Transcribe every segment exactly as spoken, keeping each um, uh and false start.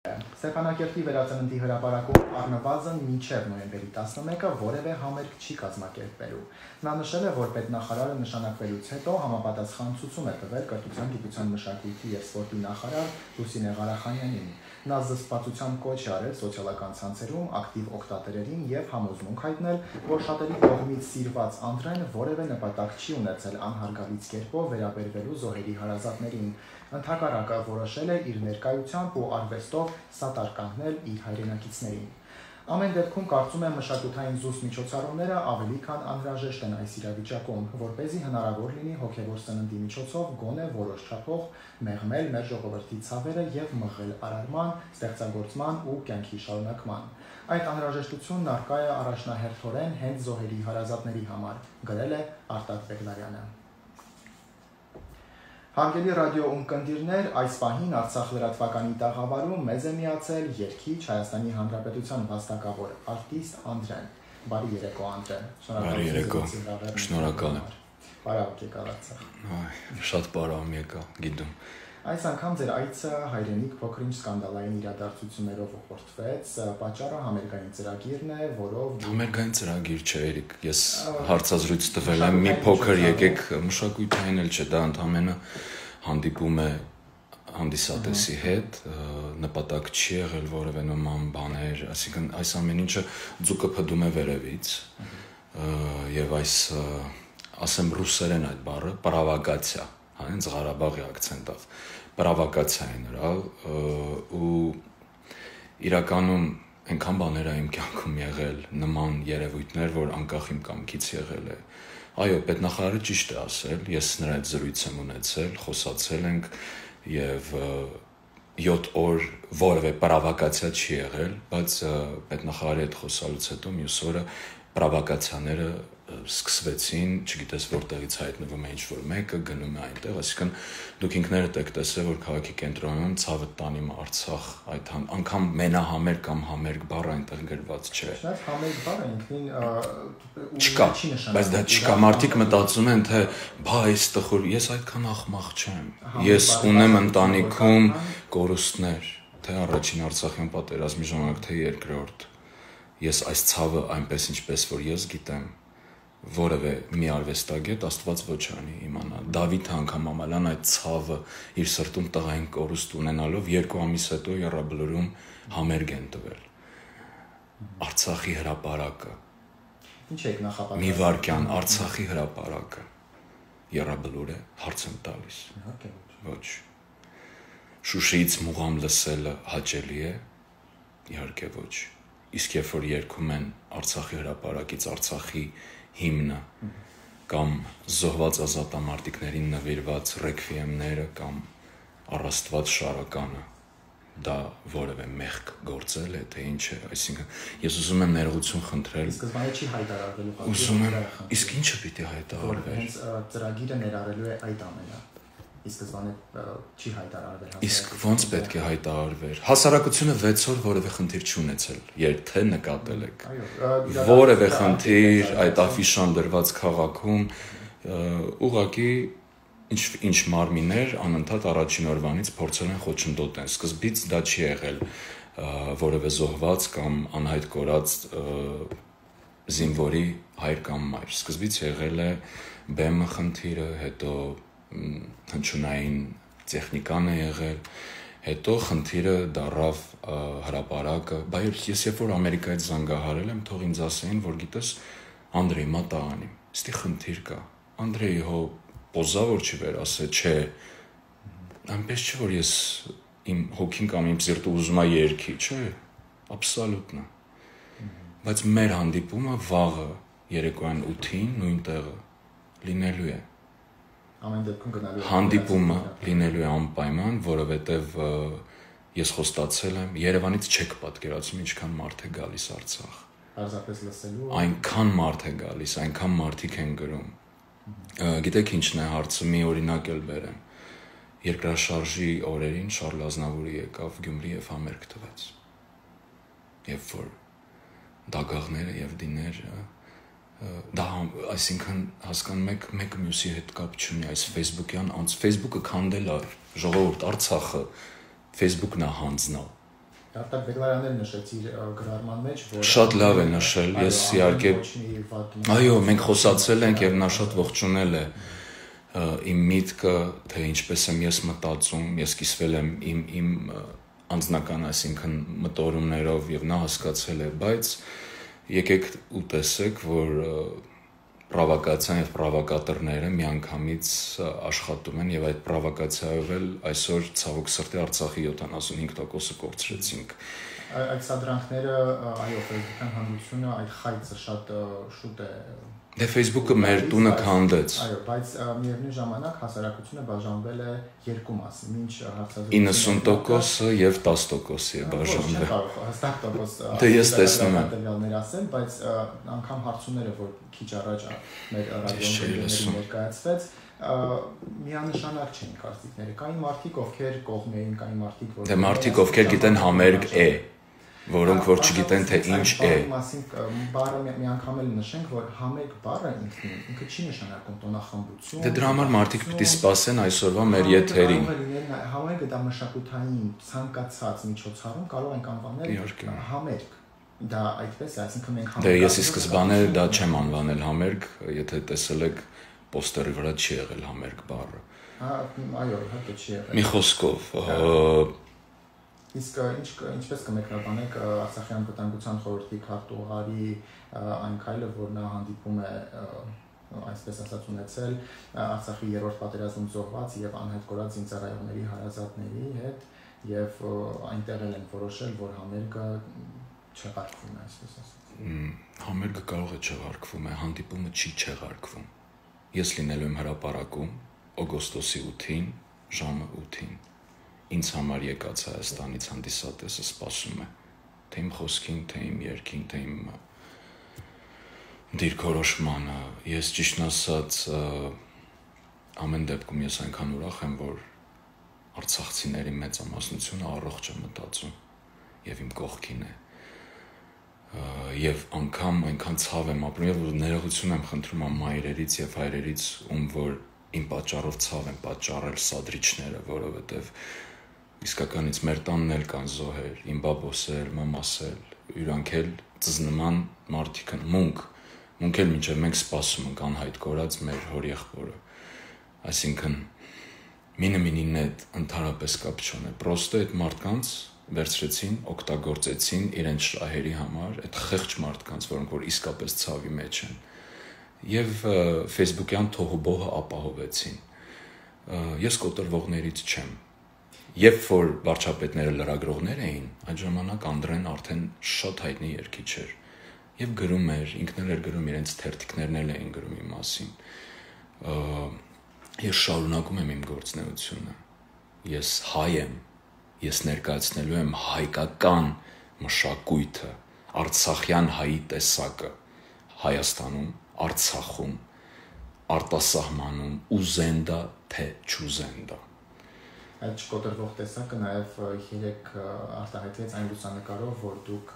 Ստեփանակերտի վերածննդի հրապարակում առնվազն մինչև նոյեմբերի տասնմեկը որևէ համերգ չի կազմակերպվելու։ Նա նշել է, որ պետնախարարը նշանակվելուց հետո համապատասխան ցուցում է տվել կրթության, գիտության, մշակույթի և սպորտի նախարար Լուսինե Ղարախանյանին։ Նա զսպվածության կոչ է արել սոցիալական ցանցերում ակտիվ օգտատերերին և համոզմունք հայտնել, որ շատերի կողմից սիրված Անդրեն որևէ նպատակ չի ունեցել անհարգալից կերպով վերաբերվելու զոհերի հարազատներին։ Ընդհակառակը որոշել է իր ներկայությամբ ու արվեստով սատար կանգնել իր հայրենակիցներին։ Ամեն դեպքում կարծում եմ մշակութային զուսպ միջոցառումները ավելի քան անհրաժեշտ են այս իրավիճակում, որպեսզի հնարավոր լինի հոգևոր սննդի միջոցով գոնե որոշ չափով մեղմել մեր ժողովրդի ցավերը և մղել արարման, ստեղծագործման ու կյանքի շարունակման։ Այդ անհրաժեշտությունն առկա է առաջնահերթորեն հենց զոհերի հարազատների համար, գրել է Արտակ Բեգլարյանը։ Հարգելի ռադիո ունկնդիրներ, այս պահին Արցախ լրատվականի տաղավարում մեզ է միացել երգիչ Հայաստանի Հանրապետության վաստակավոր արտիստ Անդրեն։ Բարի երեկո, Անդրեն։ Բարի երեկո, շնորհակալ եմ։ Բարավ եկալ Արցախ։ Շատ բարավ եկա, գիտում։ Այս անգամ ձեր այցը հայրենիք փոքր-ինչ սկանդալային իրադարձություններով ուղղորդվեց, պատճառը համերգային ծրագիրն է, որով Համերգային ծրագիր չէ, Էրիկ, ես հարցազրույց տվել եմ, մի փոքր եկեք մշակույթային էլ չէ, դա ընդհանրապես հանդիպում է հանդիսատեսի հետ, նպատակ չի եղել որևէ նման բաներ, այսինքն այս ամեն ինչը ձուկը փդում է վերևից, եւ այս ասեմ ռուսերեն այդ բառը պրովոկացիա, հենց Ղարաբաղի акցենտով, պրովոկացիա է նրա ու իրականում այնքան բաներ է իմ կյանքում եղել, նման երևույթներ, որ անկախ իմ կամքից եղել է։ Այո, պետնախարարը ճիշտ է ասել, ես նրա հետ զրույց եմ ունեցել, խոսացել ենք եւ յոթ օր որևէ պրովոկացիա չի եղել, բայց պետնախարարի հետ խոսալուց հետո մյուս օրը պրովոկացիաները սկսվեցին, չգիտես որտեղից հայտնվում է ինչ-որ մեկը, գնում է այնտեղ, այսինքն դուք ինքներդ եք տեսել, որ քաղաքի կենտրոնում ցավը տանիմ Արցախ, այդ անգամ մենահամերգ կամ համերգ բառը այնտեղ գրված չէ։ Շատ համերգ բառը ինքնին չկա, բայց դա չկա, մարդիկ մտածում են, թե բա այս տխուր, ես այդքան ախմախ չեմ։ Ես ունեմ ընտանիքում կորուստներ, թե առաջին Արցախյան պատերազմի ժամանակ, թե երկրորդ։ Ես այս ցավը այնպես ինչպես որ ես գիտեմ, որևէ մի արվեստագետ Աստված ոչ անի իմանա։ Դավիթը անգամ ամալան այդ ցավը իր սրտում տղային կորուստ ունենալով երկու ամիս հետո Եռաբլուրում համերգ են տվել։ Արցախի հրապարակը։ Ինչ եք նախապատրաստում։ Մի վարքյան Արցախի հրապարակը Եռաբլուր է, հարց եմ տալիս։ Ոչ։ Շուշիից մուղամ լսելը հաճելի է։ Իհարկե ոչ։ Իսկ երբ որ երգում են Արցախի հրապարակից Արցախի հիմնը կամ զոհված ազատամարտիկներին նվիրված ռեքվիեմները կամ առաստված շարականը, դա որևէ մեղք գործել է, թե ինչ է, այսինքն ես ուզում եմ ներողություն խնդրել։ Սկզբանե չի հայտարարվելու։ Ուզում եմ, իսկ ինչը պիտի հայտարարվեր։ Հենց ծրագիրը ներառելու է այդ ամենը։ Իսկ սկզբանե չի հայտարարվել։ Իսկ ո՞նց պետք է հայտարարվեր։ Հասարակությունը վեց օր որևէ խնդիր չունեցել, երբ թե նկատել եք։ Որևէ խնդիր այդ աֆիշան դրված քաղաքում ուղղակի ինչ ինչ մարմիններ անընդհատ առաջին օրվանից փորձել են խոչընդոտեն։ Սկզբից դա չի եղել որևէ զոհված կամ անհայտ կորած զինվորի հայր կամ մայր։ Սկզբից եղել է բեմը խնդիրը, հետո հնչյունային տեխնիկան է եղել, հետո խնդիրը դառավ հրապարակը, բայց ես երբ որ Ամերիկայից զանգահարել եմ, թող ինձ ասեին, որ գիտես, Անդրեյ, մատա անիմ, ստի խնդիր կա, Անդրեյ, հո պոզա որ չի վեր ասե, չէ, այնպես չէ, որ ես իմ հոգին կամ իմ սիրտը ուզում է երգի, չէ, աբսոլյուտնա, բայց մեր հանդիպումը վաղը երեկոյան ութին նույն տեղը լինելու է։ Ամեն դեպքում գնալու է։ Հանդիպումը լինելու է անպայման, որովհետև ես խոստացել եմ, Երևանից չեք պատկերացնում ինչքան մարդ է գալիս Արցախ։ Պարզապես լսելու։ Այնքան մարդ է գալիս, այնքան մարդիկ են գրում։ Գիտեք ինչն է հարցը, մի օրինակ էլ բերեմ։ Երկրաշարժի օրերին Շարլ Ազնավուրը եկավ Գյումրի եւ համերգ տվեց։ Երբ որ դագաղները եւ դիները դա այսինքն հասկանում եք մեկը մյուսի հետ կապ չունի այս Facebook-յան անց Facebook-ը քանդել է ժողովուրդ Արցախը Facebook-ն է հանձնալ Արտակ դեկլարաներ նշեցիր գրառման մեջ, որ շատ լավ է նշել, ես իհարկե այո, մենք խոսացել ենք եւ նա շատ ողջունել է իմ միտքը, թե ինչպես եմ ես մտածում, ես կիսվել եմ իմ իմ անձնական, այսինքն մտորումներով եւ նա հասկացել է, բայց եկեք ու տեսեք, որ պրովոկացիան եւ պրովոկատորները միանգամից աշխատում են եւ այդ պրովոկացիայով էլ այսօր ցավոք սրտի Արցախի յոթանասունհինգ տոկոսը կորցրեցինք։ Այդ սադրանքները, այո, ֆեյսբուքյան հանրությունը այդ խայծը շատ շուտ է Դե Facebook-ը մեր տունը քանդեց։ Այո, բայց միևնույն ժամանակ հասարակությունը բաժանվել է երկու մասի, ինչ հարցազրույցի իննսուն տոկոսը եւ տասը տոկոսի է բաժանվել։ Հստակ տոկոս Դե ես տեսնում եմ տվյալներ ասել, բայց անգամ հարցումները, որ քիչ առաջ մեր ռադիոյում ներկայացվեց, միանշանակ չեն կարծիքները։ Կային մարդիկ, ովքեր կողմ էին, կային մարդիկ, որ Դե մարդիկ, ովքեր գիտեն համերգ է, որոնք որ չգիտեն թե ինչ է։ Բառը մի անգամ էլ նշենք, որ համերգ բառը ինքնին ինքը չի նշանակում տոնախմբություն։ Դե դրա համար մարդիկ պիտի սպասեն այսօրվա մեր եթերին։ Համերգը դա մշակութային ցանկացած միջոցառում կարող ենք անվանել համերգ։ Դա այդպես է, այսինքն մենք համերգ։ Դե ես ի սկզբանե դա չեմ անվանել համերգ, եթե տեսել եք պոստերի վրա չի եղել համերգ բառը։ Այո, իհարկե չի եղել։ Մի խոսքով Իսկ ինչ ինչպես կմեկնաբանեք Արցախյան վտանգության խորհրդի քարտուղարի այն քայլը, որ նա հանդիպում է այսպես ասած ունեցել Արցախի երրորդ պատերազմում զոհված եւ անհետ կորած զինծառայողների հարազատների հետ եւ այնտեղ են որոշել, որ համերգը չեղարկվում է, այսպես ասած։ Համերգը կարող է չեղարկվում է, հանդիպումը չի չեղարկվում։ Ես լինելու եմ հրապարակում օգոստոսի ութին ժամը ութին Ինձ համար եկած Հայաստանից հանդիսատեսը սպասում է, թե իմ խոսքին, թե իմ երգին, թե իմ դիրքորոշմանը։ Ես ճիշտն ասած ամեն դեպքում ես այնքան ուրախ եմ, որ արցախցիների մեծամասնությունը առողջ է մտածում եւ իմ կողքին է։ Եվ անգամ այնքան ցավ եմ ապրում եւ ներողություն եմ խնդրում ամ մայրերից եւ հայրերից, ում որ իմ պատճառով ցավ են պատճառել սադրիչները, որովհետեւ իսկականից մեր տանն էլ կան զոհեր, իմ բաբոսել, մամասել, իրանք էլ ծզնման մարդիկ են, մունք, մունք էլ մինչև մենք սպասում ենք անհայտ կորած մեր հորեղբորը, այսինքն մինը մինին հետ ընդհանրապես կապ չունի, պրոստը այդ մարդկանց վերցրեցին, օգտագործեցին իրենց շահերի համար, այդ խեղճ մարդկանց, որոնք որ իսկապես ցավի մեջ են, եւ Facebook-յան թոհուբոհը ապահովեցին, ես կոտրվողներից չեմ, Երբ որ վարչապետները լրագրողներ էին, այդ ժամանակ Անդրեն արդեն շատ հայտնի երգիչ էր եւ գրում էր, ինքն էլ էր գրում, իրենց թերթիկներն էլ էին գրում իմ մասին։ Ես շարունակում եմ իմ գործունեությունը։ Ես հայ եմ, ես ներկայացնելու եմ հայկական մշակույթը, արցախյան հայի տեսակը Հայաստանում, Արցախում, արտասահմանում, ուզենդա թե չուզենդա։ Այդ չկոտրվող տեսակը նաև երեք արտահայտվեց այն լուսանկարով, որ դուք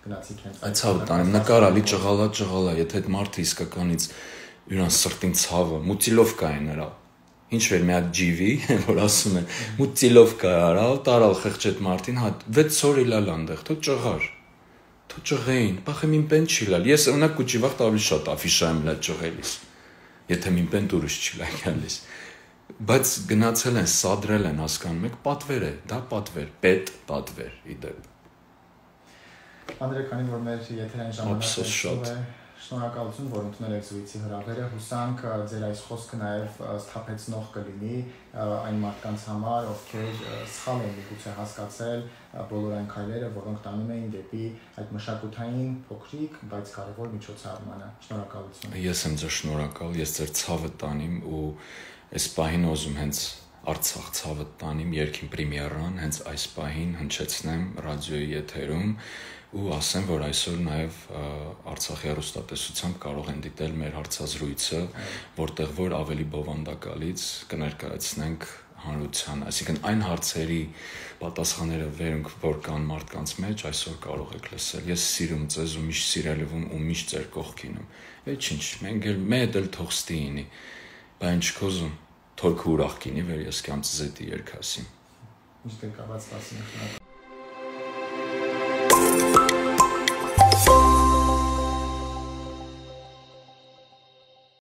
գնացիք հենց այդ ցավը տանեմ, նկարալի ճղալա ճղալա, եթե այդ մարդը իսկականից յուրան սրտին ցավը, մուտիլովկա է նրա, ինչ որ մի հատ ջիվի, որ ասում են, մուտիլովկա արալ, տարալ խեղճ այդ մարդին, հա վեց օր իլալ անդեղ, թո ճղար, թո ճղեին, բախեմ իմ պեն չի լալ, ես ունակ կուճի վաղտ ավելի շատ աֆիշա եմ լա ճղելիս, եթե իմ պեն դուրս չի լա գալիս Բայց գնացել են, սադրել են, հասկանում եք, պատվեր է, դա պատվեր, պետ պատվեր, իդեպ։ Անդրե, քանի որ մեր եթերային ժամանակը շնորհակալություն, որ ընդունել եք զրույցի հրավերը, հուսանք ձեր այս խոսքը նաև սթափեցնող կլինի այն մարդկանց համար, ովքեր սխալ են միգուցե հասկացել բոլոր այն քայլերը, որոնք տանում էին դեպի այդ մշակութային փոքրիկ, բայց կարևոր միջոցառմանը։ Շնորհակալություն։ Ես եմ ձեր շնորհակալ, ես ձեր ցավը տանիմ ու Այս պահին ուզում հենց Արցախ ցավը տանիմ երկին պրեմիերան, հենց այս պահին հնչեցնեմ ռադիոյի եթերում ու ասեմ, որ այսօր նաև Արցախի հեռուստատեսությամբ կարող են դիտել մեր հարցազրույցը, որտեղ որ ավելի բովանդակալից կներկայացնենք հանրության, այսինքն այն հարցերի պատասխանները, որոնք որ կան մարդկանց մեջ, այսօր կարող եք լսել։ Ես սիրում ձեզ ու միշտ սիրելիվում ու միշտ ձեր կողքին եմ։ Ոչինչ, մենք էլ մեծ էլ թող ստինի Բայց չկոզում, թորքը ուրախ կինի, վեր ես կամ ծզետի երկասին։ Ինչ կկաված տասին